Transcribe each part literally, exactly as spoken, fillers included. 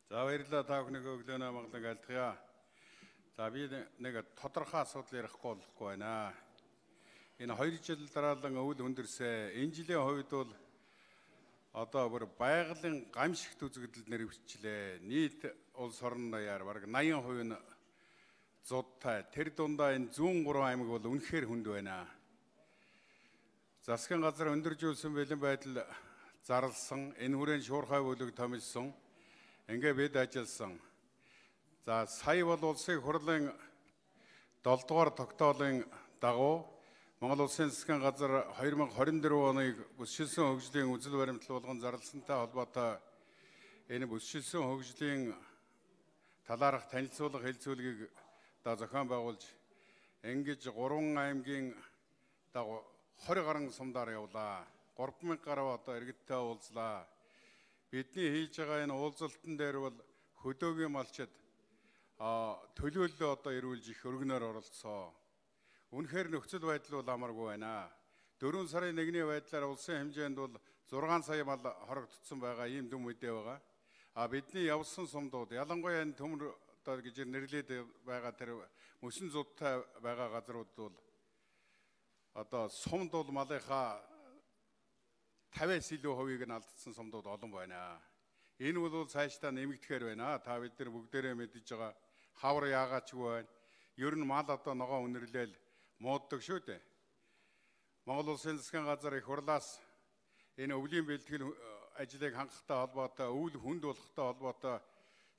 За баярлалаа та бүхнийг өглөөнөө маглан альтгая. За би нэг тодорхой асуудал ярихгүй болохгүй байна. Энэ хоёр жил дараалан өвөл хүндэрсэн энэ жилийн хувьд бол одоо бүр байгалийн гамшигт үзэгдэл нэрвчлээ. Нийт улс орон даяар бараг наян хувь нь зудтай. Тэр дундаа энэ зүүн гурван аймаг бол үнэхээр хүнд байна. Засгийн газар өндөржүүлсэн бэлэн байдал зарлсан, энэ хүрээнд шуурхай бүлэг томилсон. Ингээ бид ажилласан. За сая бол улсын хурлын долоо дугаар тогтоолын дагуу Монгол Улсын засгийн газар хоёр мың хорин дөрөв оныг бүсчилсэн хөгжлийн үзэл баримтлал болгон зарласантай холбоотой энэ бүсчилсэн хөгжлийн талаарх танилцуулга хэлцүүлгийг да зохион байгуулж ингэж гурван аймгийн дагуу двадцать гаруй сумдаар явлаа. гурван мянга гаруй одоо иргэдтэй уулзлаа. Бидний хийж байгаа энэ уулзалтан дээр бол хөдөөгийн малчид төлөөллөө одоо эрүүлж их өргөнөөр оролцсон. Үнэхээр нөхцөл байдал бол амаргүй байна. дөрвөн сарын нэгний байдлаар улсын хэмжээнд бол зургаан сая мал хорогдсон байгаа ийм дүн мэдээ байгаа. А бидний явсан сумдууд ялангуяа энэ төмөр одоо гэж нэрлээд байгаа тэр мөсөн зудтай байгаа газрууд бол одоо сумд бол малынхаа тавиас илүү хувийг нь алдсан сумдууд олон байна. Энэ бол цаашдаа нэмэгдэхээр байна. Та бид нар бүгдээрээ мэдж байгаа хавар яагаачгүй байна. Ер нь мал одоо ногоо үнэрлээл мууддаг шүү дээ. Монгол Улсын засгийн газар их хурлаас энэ өвлийн бэлтгэл ажлыг хангахтай холбоотой, өвөл хүнд болохтой холбоотой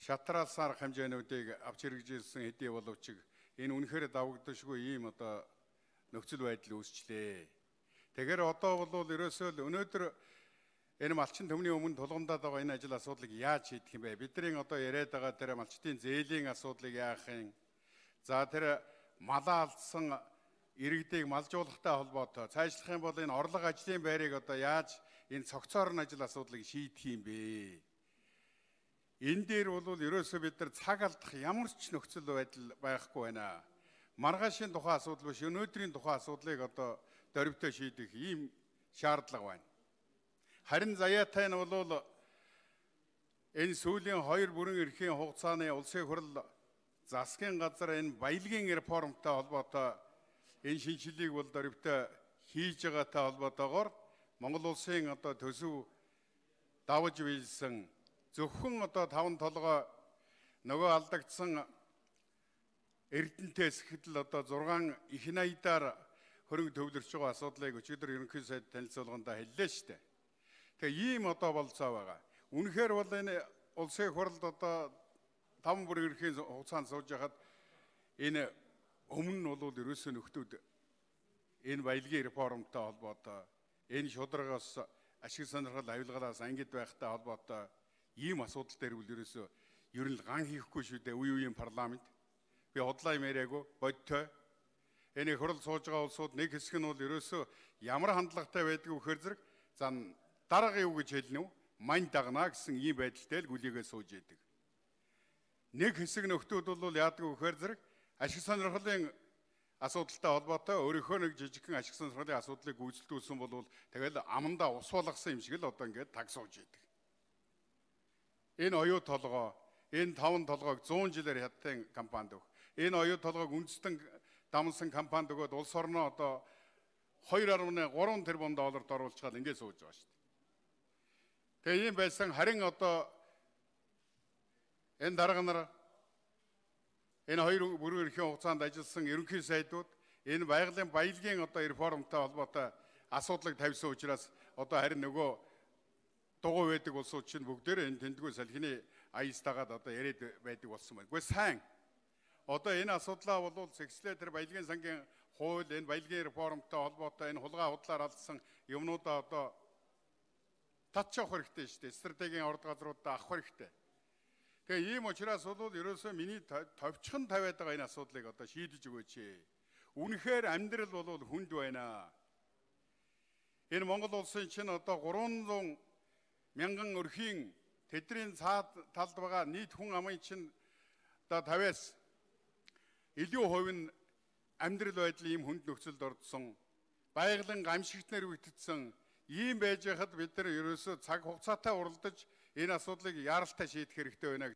шатраалсан арга хэмжээнүүдийг авч хэрэгжүүлсэн хэдий боловч энэ үнэхээр давагдашгүй ийм одоо нөхцөл байдал үүсчлээ. Тэгэхээр одоо бол ерөөсөө л өнөөдөр энэ малчин төмний өмнө тулгамдаад байгаа энэ ажил асуудлыг яаж шийдэх юм бэ? Бидний одоо яриад байгаа тэр малчтын зээлийн асуудлыг яах юм? За тэр малаа алдсан иргэдийг малжуулахтай холбоотой цаашлах юм бол энэ орлого ажлын байрыг одоо яаж энэ цогцоорн ажил асуудлыг шийдэх юм бэ? Энэ дээр бол ерөөсөө бид нар цаг алдах ямар ч нөхцөл байдал байхгүй байна. Маргаашийн тухайн асуудал биш, өнөөдрийн тухайн асуудлыг одоо дөрвтэй шийдэх ийм шаардлага байна. Харин заяатай нь бол энэ сүүлийн хоёр бүрэн эрхийн хугацааны улсын хурал засгийн газар энэ баялагын реформтой холбоотой энэ шинжилгээг бол дөрвтэй хийж байгаатай холбоотойгоор Монгол улсын одоо төсөв давж биелсэн зөвхөн одоо таван толгой нөгөө алдагдсан Эрдэнэтээс хэдэл одоо зургаан их найдаар хөрөнгө төвлөрч байгаа асуудлыг өчигдөр ерөнхий сайд танилцуулгандаа хэллээ шүү дээ. Тэгээ ийм одоо болцоо байгаа. Үнэхээр бол энэ улсын хурлд одоо таван бүрэн эрхийн хугацаанд сууж байхад энэ өмнө нь бол ерөөсөө нөхдүүд энэ баялагын реформтой холбоотой энэ шударгаас ашиг сонирхол авилгалаас ангид байхтай холбоотой ийм асуудал дээр бол ерөөсөө ер нь ган хийхгүй шүү дээ. Үе үеийн парламент би хотлоо юм яриаггүй бодтой. Энэ хурал сууж байгаа улсууд нэг хэсэг нь бол ерөөсөө ямар хандлагатай байдгийг вөхөр зэрэг за дарга юу гэж хэлнэ үү? Мань дагнаа гэсэн ийм байдалтай л гүлийгээ сууж яадаг. Нэг хэсэг нөхдүүд бол яадаг вөхөр зэрэг ашиг сонирхлын асуудалтай холбоотой өөрийнхөө нэг жижигхэн ашиг сонирхлын асуудлыг гүйцэлдүүлсэн бол тэгэл амандаа ус болгосон юм шиг л одоо ингээд таг сууж яадаг. Энэ оюу толгой, энэ таван толгойг зуун жилээр хятадын компанид өг. Энэ оюу толгойг үндэстэн дамсан компанид өгөөд улс орноо одоо хоёр гаруй гурван тэрбум долларт оруулчихад ингээд сууж байгаа шүү дээ. Тэгээ ийм байсан харин одоо энэ дарга нар энэ хоёр бүрэн эрхийн хугацаанд ажилласан ерөнхий сайдууд энэ байгалийн баялагын одоо реформтой холбоотой асуудлыг тавьсан учраас одоо харин нөгөө дугуй байдаг улсууд чинь бүгдээрээ энэ тэмдгүү салхины аястагаад одоо яриад байдаг болсон байна. Гэхдээ сайн одоо энэ асуудлаа бол сэгслээ тэр баялагын сангийн хууль энэ баялагын реформтой холбоотой энэ хулгай худлаар алдсан юмнуудаа одоо татчих хэрэгтэй шүү дээ. Стратегийн орд газруудаа авах хэрэгтэй. Тэгээ ийм учраас бол ерөөсөө миний товчхон тавиад байгаа энэ асуудлыг одоо шийдэж өгөөч. Үнэхээр амьдрал бол хүнд байна. Энэ Монгол улсын чинь одоо гурван зуун мянган өрхийн тэдний цаад талд байгаа нийт хүн амын чинь одоо тавиас илүү хувь нь амьдрал байдлын ийм хүнд нөхцөлд ордсон байгалийн гамшигтнэр үйтгдсэн ийм байж хахад бид нар ерөөсөө цаг хугацаатай уралдаж Энэ асуудлыг яаралтай шийдэх хэрэгтэй байна.